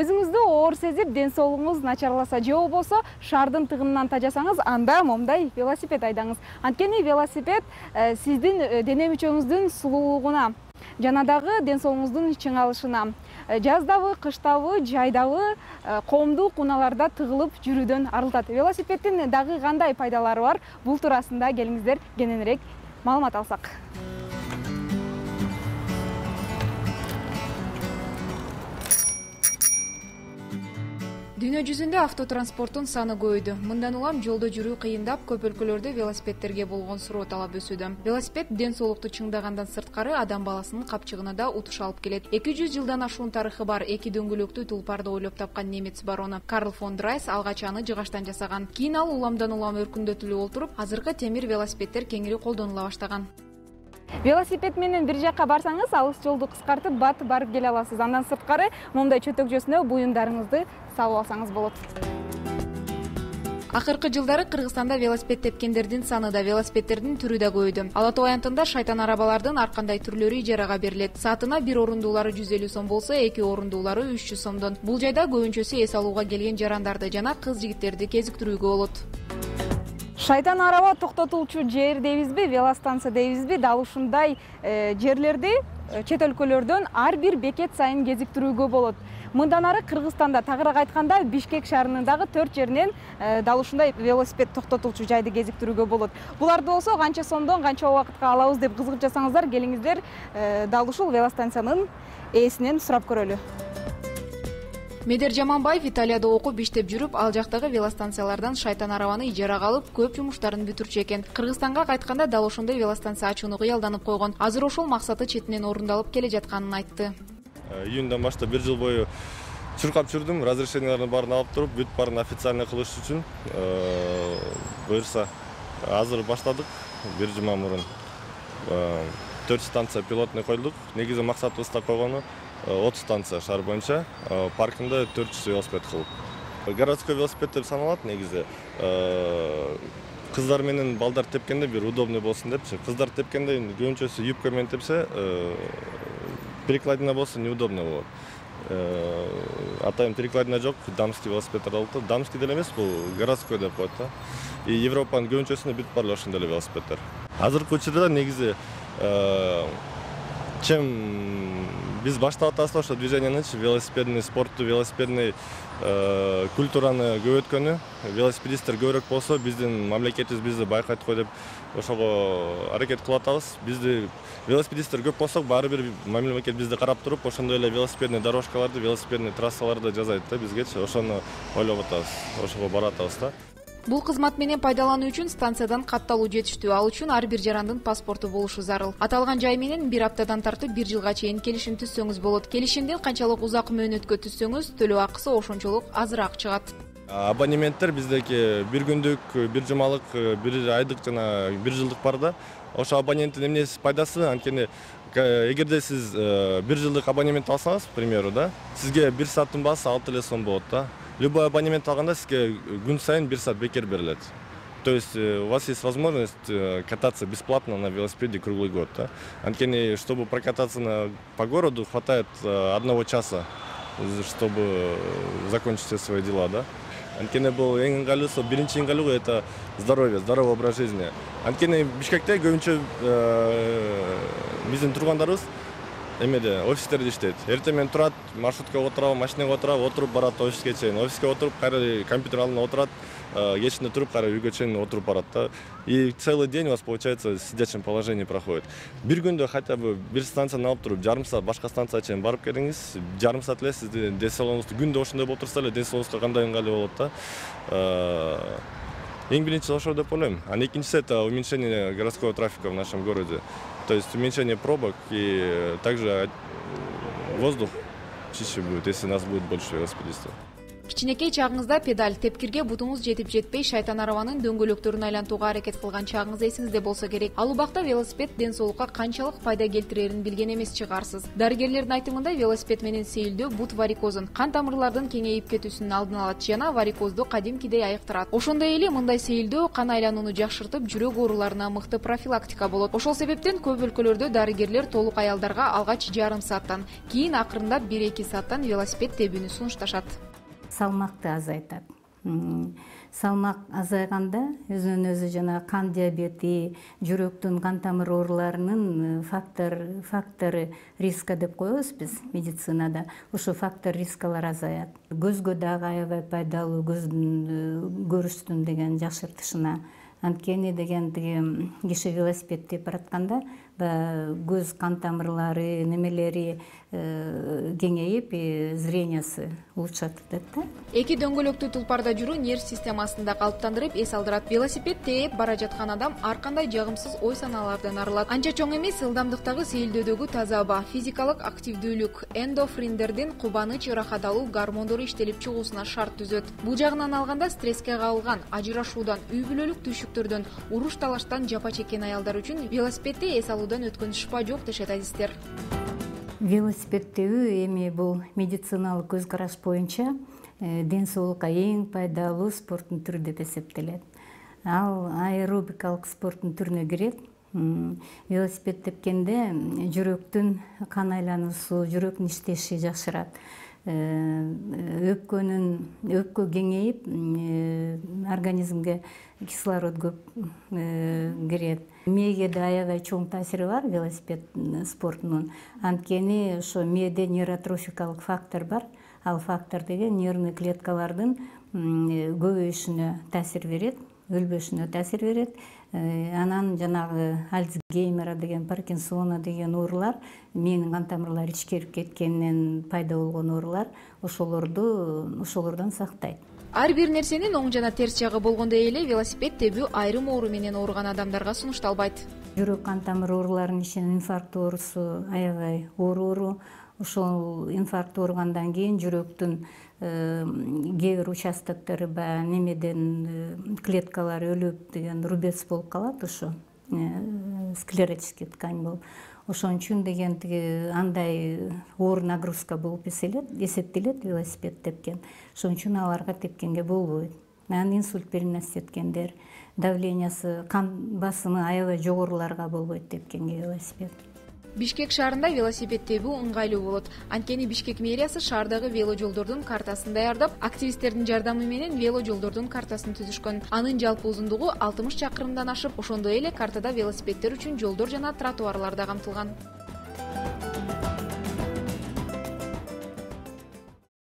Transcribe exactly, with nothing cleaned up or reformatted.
өзүңүздү оор сезип, ден соолугуңуз начарласа же болбосо шаардын тыгынынан тажасаңыз, анда момундай велосипед айдаңыз. Анткени велосипед сиздин дене мүчөңүздүн сулуулугуна жана дагы ден соолугуңуздун чыңалышына, жаздабы, кыштабы, жайдабы, коомдук унааларда тыгылып жүрүүдөн арылтат. Велосипеддин дагы кандай пайдалары бар? Бул туурасында келиңиздер кененирээк маалымат алсак. Дүйнө жүзүндө автотранспорттун саны көбөйдү. Мындан улам жолдо жүрүү кыйындап, көп өлкөлөрдө велосипедтерге болгон суроо талап өсүүдө. Велосипед ден соолукту чыңдагандан сырткары адам баласынын капчыгына да утуш алып келет. эки жүз жылдан ашуун тарыхы бар эки дөңгөлөктүү тулпарды ойлоп тапкан немец барону Карл фон Драйс алгач аны жыгачтан жасаган. Кийин ал уламдан улам өркүндөтүлүп олтуруп, азыркы темир велосипедтер кеңири колдонула баштаган. Велосипед менен бир жакка барсаңыз, алыс жолду кыскартып, батып барып келе аласыз. Андан сырткары момундай чөтөкчөсүнө буюмдарыңызды салып алсаңыз болот. Акыркы жылдары Кыргызстанда велосипед тепкендердин саны да, велосипедтердин түрү да көбөйдү. Ала Тоо аянтында шайтан арабалардын ар кандай түрлөрү ижарага берилет. Саатына бир орундуулары жүз элүү сом болсо, эки орундуулары үч жүз сомдон. Бул жайда көбүнчөсү эс алууга келген жарандарды жана кыз-жигиттерди кезиктирүүгө болот. Шайтан араба токтотулчу жер дейбизби, велостанция дейбизби, дал ушундай жерлерди чет өлкөлөрдөн ар бир бекет сайын кезиктирүүгө болот. Мындан ары Кыргызстанда, тагыраак айтканда, Бишкек шаарынын дагы төрт жеринен дал ушундай велосипед токтотулчу жайды кезиктирүүгө болот. Буларды болсо канча сомдон, канча убакытка алабыз деп кызыгып жатсаңыздар, келиңиздер дал ушул велостанциянын ээсинен сурап көрөлү. Медер Жаманбаев Италияда окуп иштеп жүрүп, ал жактагы велостанциялардан шайтан арабаны ижарага алып, көп жумуштарын бүтүрчү экен. Кыргызстанга кайтканда дал ошондой велостанция ачууну кыялданып койгон. Азыр ошол максаты четинен орундалып келе жатканын айтты. Июндан баштап бир жыл бою чуркап жүрдүм, разрешениялардын баарын алып туруп, бүт баарын официально кылыш үчүн. Буюрса, азыр баштадык. Бир жума мурун төрт станция пилотный койдук. Негизи максатыбыз да койгону отуз станция шаар боюнча, паркинде төрт жүз велосипед кылып. Городской велосипед деп саналат негизи. Кыздар менен балдар тепкенде бир удобный болсун депчи. Кыздар тепкенде көбүнчөсү юбка менен тепсе, перекладина болсо неудобно болот. Атайын перекладина жок, дамский велосипеддер алып, дамский деле эмес, бул городской деп коет да. И Европанын көбүнчөсүндө бүт баары ошондой эле велосипеддер. Азыркы учурда негизи чем биз баштап атабыз ошо движениянычы, велосипедный спортту, велосипедный культураны көбөйткөнү, велосипедисттер көбүрөөк болсо, биздин мамлекетибиз бизди байкайт го деп ошого аракет кылып атабыз. Бизди велосипедисттер көп болсок, баары бир мамлекет бизди карап туруп, ошондой эле велосипедный дорожкаларды, велосипедный трассаларды жасайт да бизгечи. Ошону ойлоп атабыз, ошого барып атабыз да. Бул кызмат менен пайдалануу үчүн станциядан катталуу жетиштүү. Ал үчүн ар бир жарандын паспорту болушу зарыл. Аталган жай менен бир аптадан тартып бир жылга чейин келишим түзсөңүз болот. Келишимден канчалык узак мөөнөткө түзсөңүз, төлөө акысы ошончолук азыраак чыгат. Абонементтер биздеки бир күндүк, бир жумалык, бир айдык жана бир жылдык бар да. Ошо абоненттин эмнеси пайдасы, анткени эгерде сиз бир жылдык абонемент алсаңыз, к примеру, да, сизге бир сааттын баасы алты эле сом болот да. Любой абонемент алганда сизге күн сайын бир саат бекер берилет. То есть у вас есть возможность кататься бесплатно на велосипеде круглый год. Да? Анткени, чтобы прокататься на, по городу, хватает одного часа, чтобы закончить все свои дела. Да? Анткени бул эң ыңгайлуусу, биринчи ыңгайлуу это здоровье, здоровый образ жизни. Анткени Бишкекте көбүнчө биздин тургандарыбыз эмеде офистерде иштейт. Эртең менен турат, маршруткага отурабы, машинага отурабы, отуруп барат офиске чейин. Офиске отуруп, кайра компьютер алдында отурат, кечинде туруп, кайра үйгө чейин отуруп барат да. И целый день у вас получается в сидячем положении проходит. Бир күндө хотя бы бир станцияны алып туруп, жарым саат башка станцияга чейин барып келиңиз, жарым саат эле сиздин ден соолугуңузду күндө ошондой болуп турса эле ден соолугуңузга кандай ыңгайлуу болот да. Эң биринчи ошо деп ойлойм. А экинчиси это уменьшение городского трафика в нашем городе. То есть уменьшение пробок и также воздух чище будет, если нас будет больше велосипедистов. Кичинекей чагыңызда педаль, тепкирге бутуңуз жетип жетпей шайтан арабанын дөңгөлөктөрүн айлантууга аракет кылган чагыңыз эсиңизде болсо керек. Ал убакта велосипед ден соолукка канчалык пайда келтирерин билген эмес чыгарсыз. Дарыгерлердин айтымында велосипед менен сейилдөө бут варикозун, кан тамырлардын кеңейип кетүүсүнүн алдын алат жана варикозду кадимкидей айыктырат. Ошондой эле мындай сейилдөө кан айланууну жакшыртып, жүрөк ооруларына мыкты профилактика болот. Ошол себептен көп өлкөлөрдө дарыгерлер толук аялдарга алгач жарым сааттан, кийин акырындап бир эки сааттан велосипед тебүүнү сунушташат. Салмакты азайтат. Салмак азайганда өзүнөн өзү жана кан диабети, жүрөктүн кан тамыр ооруларынын фактор фактору риска деп коебуз биз медицинада. Ошо фактор рискалар азаят. Көзгө дагы аябай пайдалуу, көздүн көрүштүн деген жакшыртышына. Анткени деген тиги киши велосипед теп баратканда көз кан тамырлары, немелери кеңейип, зрениясы улучшат деп да. Эки дөңгөлөктүү тулпарда жүрүү нерв системасын да калыптандырып, эс алдырат. Велосипед тээп бара жаткан адам ар кандай жагымсыз ой санаалардан арылат. Анча чоң эмес ылдамдыктагы сейилдөөдөгү таза аба, физикалык активдүүлүк, эндорфиндердин кубаныч, ырахат алуу гормондору иштелип чыгуусуна шарт түзөт. Бул жагынан алганда стреске кабылган, ажырашуудан, үй бүлөлүк түйшүктөрдөн, уруш талаштан жапа чеккен аялдар үчүн велосипедди эс алуудан өткөн шыпа жок дешет адистер. Велосипед тебүү эми бул медициналык көз караш боюнча ден соолукка эң пайдалуу спорттун түрү деп эсептелет. Ал аэробикалык спорттун түрүнө кирет. Велосипед тепкенде жүрөктүн кан айлануусу, жүрөктүн иштеши жакшырат. Өпкөнүн өпкө кеңейип, организмге кислород көп кирет. Мээге да аябай чоң таасири бар велосипед спортунун. Анткени ошо мээде нейротрофикалык фактор бар. Ал фактор деген нервный клеткалардын көбөйүшүнө таасир берет, өлбөшүнө таасир берет. Анан жанагы Альцгеймера деген, Паркинсона деген оорулар, мээнин кан тамырлары ичкерип кеткенинен пайда болгон оорулар, ошолорду ошолордон сактайт. Ар бир нерсенин оң жана терс жагы болгондой эле велосипед тебүү айрым оору менен ооруган адамдарга сунушталбайт. Жүрөк кан тамыр ооруларынын ичинен инфаркт оорусу аябай оор оору. Ошол инфаркт ооругандан кийин жүрөктүн кээ бир участоктору баягы немеден клеткалары өлүп деген рубец болуп калат, ошо склеротический ткань болуп. Ошон үчүн деген тиги андай оор нагрузка болуп эсептелет велосипед тепкен. Ошон үчүн аларга тепкенге болбойт. Анан инсульт переносить эткендер, давлениясы, кан басымы аябай жогоруларга болбойт тепкенге велосипед. Бишкек шаарында велосипед тебүү ыңгайлуу болот. Анткени Бишкек мэриясы шаардагы вело жолдордун картасын даярдап, активисттердин жардамы менен вело жолдордун картасын түзүшкөн. Анын жалпы узундугу алтымыш чакырымдан ашып, ошондой эле картада велосипеддер үчүн жолдор жана тротуарлар да камтылган.